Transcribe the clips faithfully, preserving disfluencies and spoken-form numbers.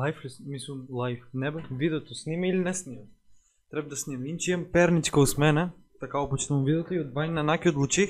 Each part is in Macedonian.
лайф ли, мислам лайф, не бе, видеото снима или не снима? Треба да снима. Инче имам перничка us мене, така опочнам видеото и од двај на наки одлучих,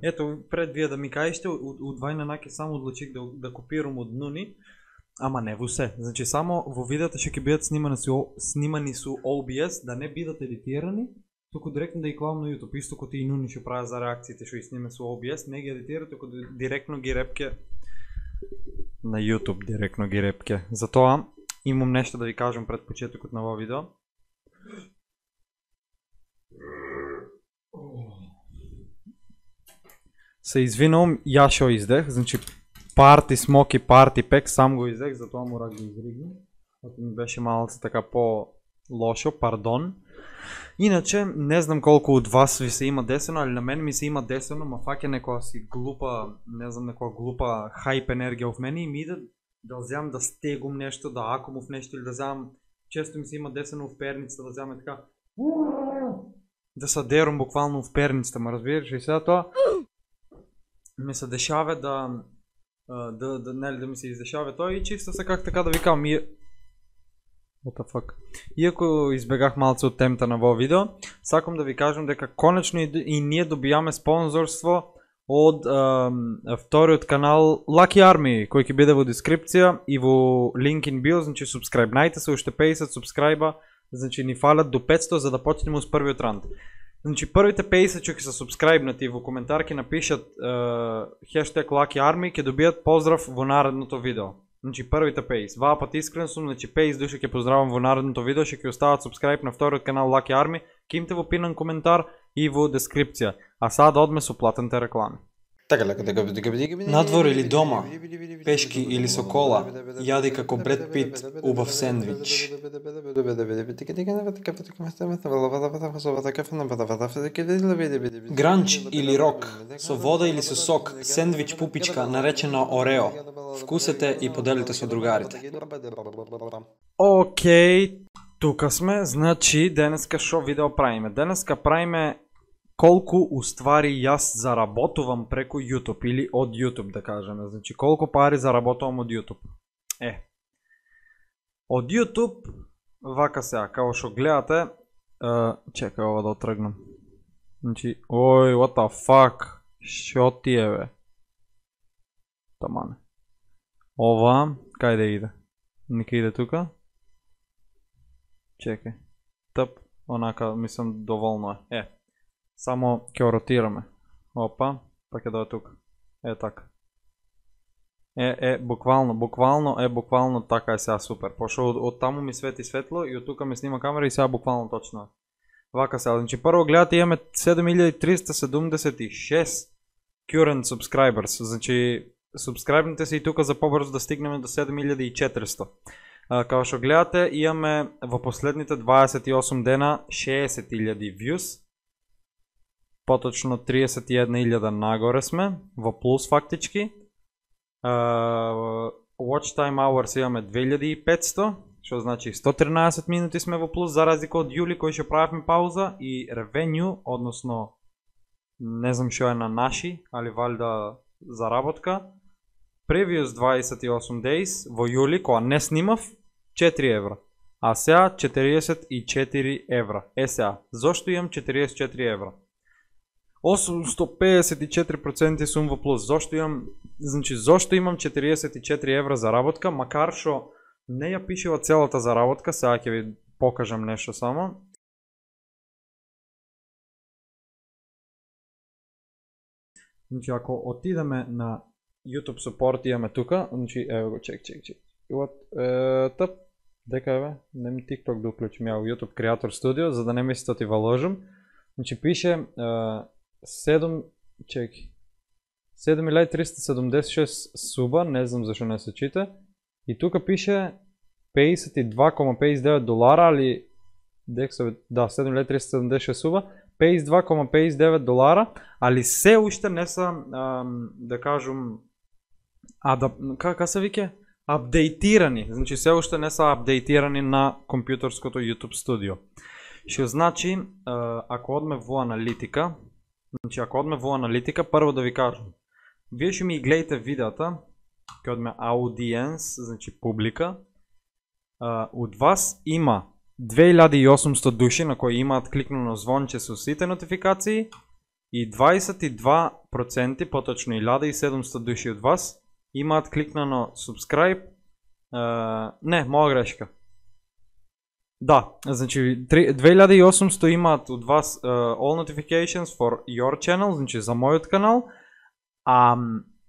ето пред вие да ми кажете, од двај на наки само одлучих да, да копирам од Нуни, ама не во се. Значи само во видеото ќе бидат снимани со снимани со О Б С, да не бидат едитирани, туку директно да ги клавам на YouTube, исто како и Нуни што прави за реакциите што ги снима со О Б С, не ги едитира, туку директно ги репке на YouTube, директно ги репке. Затоа имам нешто да ви кажам пред почетокот на ова видео. Се извинувам, ја шо издех, значи парти смоки, парти пек, сам го издех, затоа мора да го изригнам. Ако ми беше малце така по лошо, пардон. Иначе, не знам колку од вас ви се има десено, али на мене ми се има десено, ма фаќа некоја си глупа, не знам, некоја глупа хајп енергија в мене и ми иде да вземам да стегум нешто, да акумов нешто или да вземам, често ми се има десено в перницата, да вземам така, да се дерам буквално в перницата, ма разбираш, и сега тоа ми се дешава да, да, да, нели, да ми се издешава тоа и чисто се как така да ви кажам, и what the fuck. Иако избегах малце од темата на во видео, сакам да ви кажам дека конечно и, и ние добиваме спонзорство од е, вториот канал Lucky Army, кој ќе биде во дескрипција и во линк in bio, значи субскрайбнајте се, уште петдесет субскрайба, значи ни фалат до петсто за да почнеме с првиот раунд. Значи првите петдесет што ќе се субскрайбнати во коментар ќе напишат е, хештег Lucky Army, ќе добијат поздрав во наредното видео. Значи првите петдесет. Ваа пат искрен сум, значи петдесет души ќе поздравам во наредното видео, ќе ќе остават субскрайб на вториот канал Lucky Army, ќе имате во пинан коментар и во дескрипција. А сега да одме со платените реклами. Надвор или дома, пешки или со кола, јади како Бред Пит убав сендвич. Гранч или рок, со вода или со сок, сендвич пупичка наречена Орео. Вкусете и поделите со другарите. Океј, тука сме, значи денеска шо видео правиме? Денеска правиме колку уствари јас заработувам преку YouTube или од YouTube да кажеме, значи колку пари заработувам од YouTube. Е, од YouTube, вака сега, као што гледате, е, чекај ова да отргнам. Значи, ој, what the fuck, шо ти е бе? Тамане. Ова, кај да иде? Нека иде тука. Чекај. Тъп, онака, мислам, доволно е. Е. Само ќе ротираме. Опа, па ќе дойде тука. Е така. Е, е, буквално, буквално, е, буквално така е сега супер. Пошо од, од таму ми свети светло и од тука ми снима камера и сега буквално точно е. Вака сега, значи прво гледате имаме седум илјади триста седумдесет и шест current subscribers, значи субскрайбнете се и тука за побрзо да стигнеме до седум илјади и четиристо. Као што гледате имаме во последните дваесет и осум дена шеесет илјади views. Поточно триесет и една илјада нагоре сме, во плюс фактички. Uh, watch time hours имаме две илјади и петсто, што значи сто тринаесет минути сме во плюс, за разлика од јули кој ќе правевме пауза, и revenue, односно не знам што е на наши, али валјда заработка. Previous дваесет и осум days во јули, кога не снимав, четири евра. А сега четириесет и четири евра. Е сега, зошто имам четириесет и четири евра? осумстотини педесет и четири проценти сум во плюс. Зошто имам, значи зошто имам четириесет и четири евра заработка, макар што не ја пишева целата заработка, сега ќе ви покажам нешто само. Значи ако отидеме на YouTube support имаме тука, значи ево го, чек, чек, чек. Е, тъп, дека е бе, не ми TikTok да уклучим, ја YouTube Creator Studio, за да не мислите да ти валожам. Значи пише е, седум, чеки, седум илјади триста седумдесет и шест суба, не знам зашо не се чита. И тука пише педесет и два кома педесет и девет долара, али да, седум илјади триста седумдесет и шест суба, педесет и два кома педесет и девет долара, али се уште не са, ам, да кажам, адап, како се вике? Апдейтирани, значи се уште не са апдейтирани на компјутерското YouTube студио. Што значи, ако одме во аналитика, значи ако одме во аналитика, прво да ви кажам, вие што ми гледате видеото, ќе одме audience, значи публика, uh, од вас има две илјади и осумсто души на кои имаат кликнано звонче со сите нотификации и дваесет и два проценти, поточно илјада и седумсто души од вас имаат кликнано subscribe. Uh, не, моја грешка. Да, значи две илјади и осумсто имаат од вас uh, all notifications for your channel, значи за мојот канал, а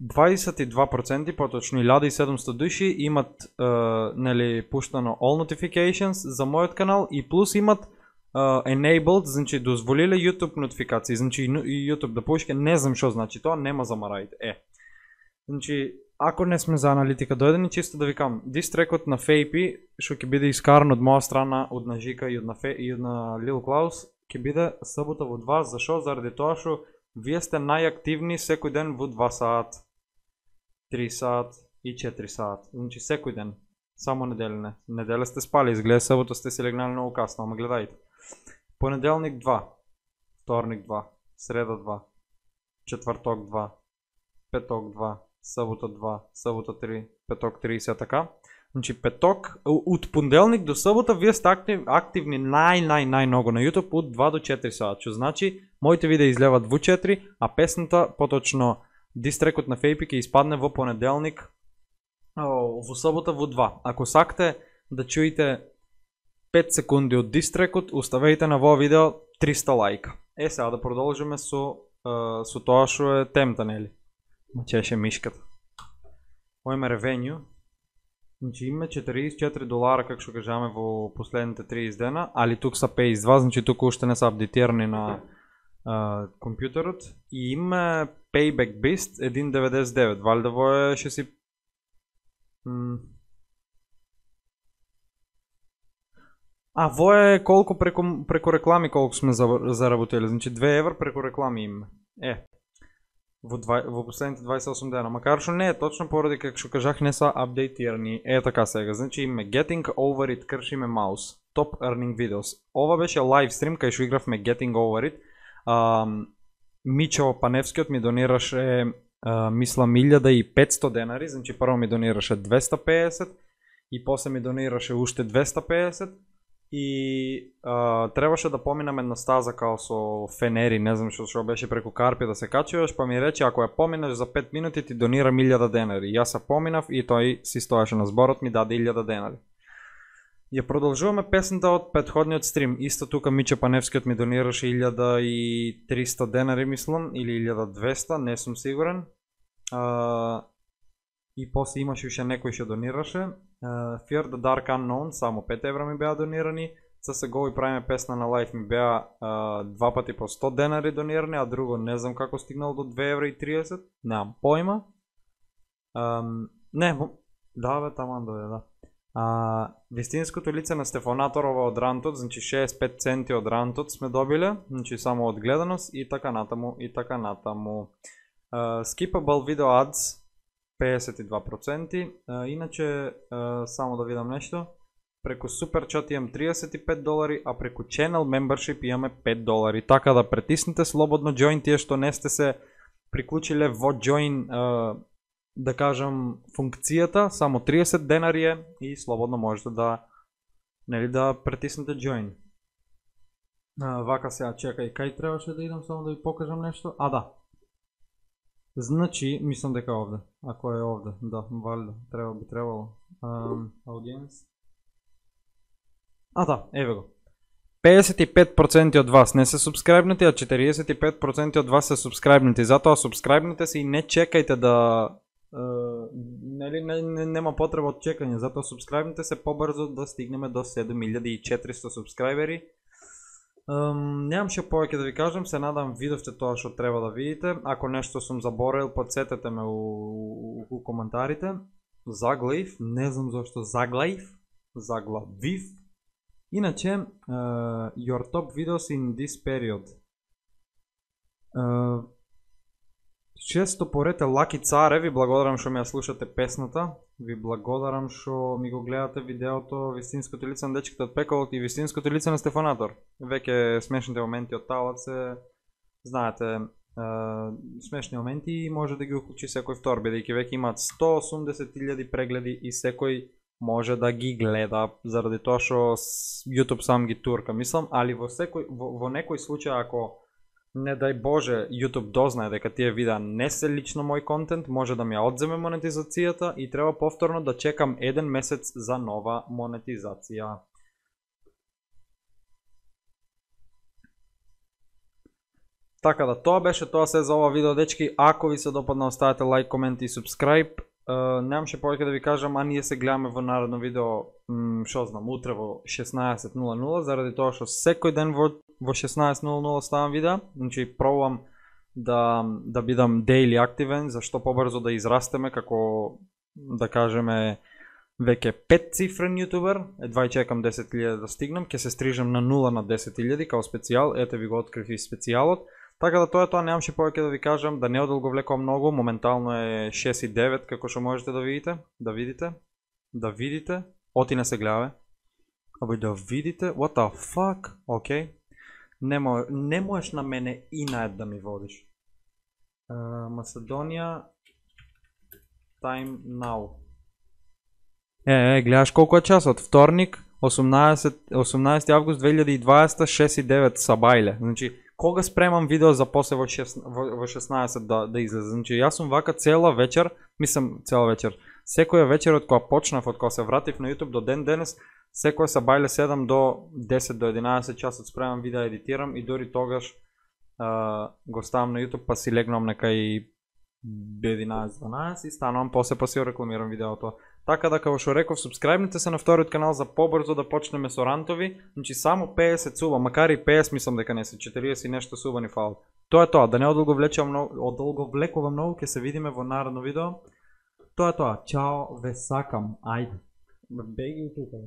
дваесет и два проценти, поточно илјада и седумсто души имат uh, нели пуштано all notifications за мојот канал и плюс имат uh, enabled, значи дозволиле YouTube нотификации, значи YouTube да пушке, не знам што значи тоа, нема замарајте. Е. Значи ако не сме за аналитика дојдени, чисто да ви кажам, дистрекот на Фейпи, што ќе биде искаран од моја страна, од на Жика и од на Фе, и од на Лил Клаус, ќе биде сабота во два. Зашо? Заради тоа што вие сте најактивни секој ден во два сат, три сат и четири сат. Значи секој ден, само неделя не. Неделя сте спали, изгледа сабота сте се легнали многу касно, ама гледајте. Понеделник два, вторник два, среда два, четврток два, петок два, сабота два, сабота три, петок три и се така. Значи петок, од понеделник до сабота вие сте актив, активни нај нај нај многу на YouTube од два до четири сат. Што значи моите видеа излеват во четири, а песната, поточно дистрекот на Фейпи ќе испадне во понеделник, во сабота во два. Ако сакате да чуете пет секунди од дистрекот, оставете на во видео триста лајка. Е сега да продолжиме со со тоа што е темата, нели? Мачеше мишката. Ојме ревенју. Значи име четириесет и четири долара, како што кажаме во последните триесет дена, али тук са пејс два, значи тук уште не са апдейтирани на uh, компјутерот. И име Payback Beast еден деветдесет и девет. Валјда во е ше си... М... А, во е колку преку, преку реклами колку сме заработили. Значи две евра преку реклами име. Е. Во, два, во последните дваесет и осум дена, макар што не е точно поради како што кажах не са апдейтирани. Е така сега, значи име Getting Over It, кршиме маус, Top Earning Videos. Ова беше лайв стрим кај што игравме Getting Over It. Uh, Мичо Паневскиот ми донираше, uh, мислам, илјада и петсто денари, значи прво ми донираше двеста пеесет и после ми донираше уште двеста пеесет. И а, требаше да поминам една стаза као со фенери, не знам што што беше преку Карпи да се качуваш, па ми рече ако ја поминаш за пет минути ти донирам илјада денари. Јас се поминав и тој си стоеше на зборот, ми даде илјада денари. Ја продолжуваме песната од претходниот стрим. Исто тука Миче Паневскиот ми донираше илјада и триста денари, мислам, или илјада и двеста, не сум сигурен. А, и после имаше уште некој што донираше. Uh, Fear the Dark Unknown, само пет евра ми беа донирани. Са се го и правиме песна на лайф ми беа uh, два пати по сто денари донирани, а друго не знам како стигнал до две евра и триесет, немам појма. Um, не, да бе, таман дојде, да. Uh, вистинското лице на Стефанаторова од Рантот, значи шеесет и пет центи од Рантот сме добиле, значи само од гледаност и така натаму, и така натаму. Uh, skippable video ads, пеесет и два проценти. Uh, иначе, uh, само да видам нешто, преку Суперчат имам триесет и пет долари, а преку Channel Membership имаме пет долари. Така да притиснете слободно join тие што не сте се приклучиле во join, uh, да кажам, функцијата, само триесет денари е и слободно можете да, нели, да притиснете join. Uh, вака сега, чекај, кај требаше да идам само да ви покажам нешто? А, да. Значи, мислам дека овде, ако е овде, да, валјда, треба би требало. Um, Audience. А, да, еве го. пеесет и пет проценти од вас не се субскрайбнати, а четириесет и пет проценти од вас се субскрайбнати. Затоа субскрайбнете се и не чекајте да... Uh, нели, не, не, нема потреба од чекање, затоа субскрайбнете се побрзо да стигнеме до седум илјади и четиристо субскрайбери. Um, Немам ше повеќе да ви кажам, се надам видовте тоа што треба да видите. Ако нешто сум заборел, подсетете ме у, у, у коментарите. Заглаив, не знам зашто заглаив, заглавив. Иначе, uh, your top videos in this period. Uh, Често порете Лаки Царе, ви благодарам што ми ја слушате песната. Ви благодарам што ми го гледате видеото Вистинското лице на дечките од пеколот и Вистинското лице на Стефанатор. Веќе смешните моменти од талат се, знаете, е, смешни моменти и може да ги уклучи секој втор, бидејќи веќе имаат сто и осумдесет илјади прегледи и секој може да ги гледа, заради тоа што YouTube сам ги турка, мислам, али во секој во, во некој случај ако не дај Боже YouTube дознае дека тие видеа не се лично мој контент, може да ми ја одземе монетизацијата и треба повторно да чекам еден месец за нова монетизација. Така да, тоа беше тоа се за ова видео, дечки. Ако ви се допадна, оставете лайк, комент и субскрайб. Uh, немаше повеќе да ви кажам, а ние се гледаме во наредно видео, шо знам, утре во шеснаесет нула нула, заради тоа што секој ден во, во шеснаесет нула нула ставам видеа, значи пробувам да, да бидам daily активен, за што побрзо да израстеме како, да кажеме, веќе пет цифрен јутубер, едва и чекам десет илјади да стигнам, ќе се стрижам на нула на десет илјади као специјал, ете ви го открив и специјалот. Така да тоа е тоа, немаше повеќе да ви кажам, да не одолговлекувам многу, моментално е шест и девет како што можете да видите, да видите, да видите, оти не се гледаве, абе да видите, what the fuck, окей, не, мо, не можеш на мене и наед да ми водиш. Uh, Macedоnia, time now. Е, е, гледаш колку е часот, вторник, осумнаесети август две илјади и дваесета, шест и девет сабајле, значи, кога спремам видео за после во, во шеснаесет да, да излезе. Значи, јас сум вака цела вечер, мислам цела вечер, секоја вечер од која почнав, од која се вратив на YouTube до ден денес, секоја сабајле седам до десет до единаесет часот спремам видео, едитирам и дори тогаш а, го ставам на YouTube па си легнам нека и единаесет дванаесет и станувам после па си рекламирам видеото. Така да, како што реков, субскрајбнете се на вториот канал за побрзо да почнеме со рантови. Значи само педесет суба, макар и педесет мислам дека не се, четириесет и нешто суба ни фал. Тоа е тоа, да не одолговлекувам многу, одолговлекувам многу, ќе се видиме во наредно видео. Тоа е тоа, чао, ве сакам, ајде. Беги тука.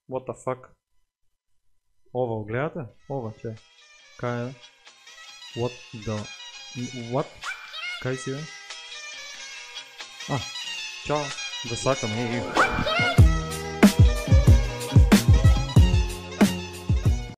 What the fuck? Ова, гледате? Ова, че? Кај е? What the... What? Кај си бе? А, чао, да сакам, еј, еј.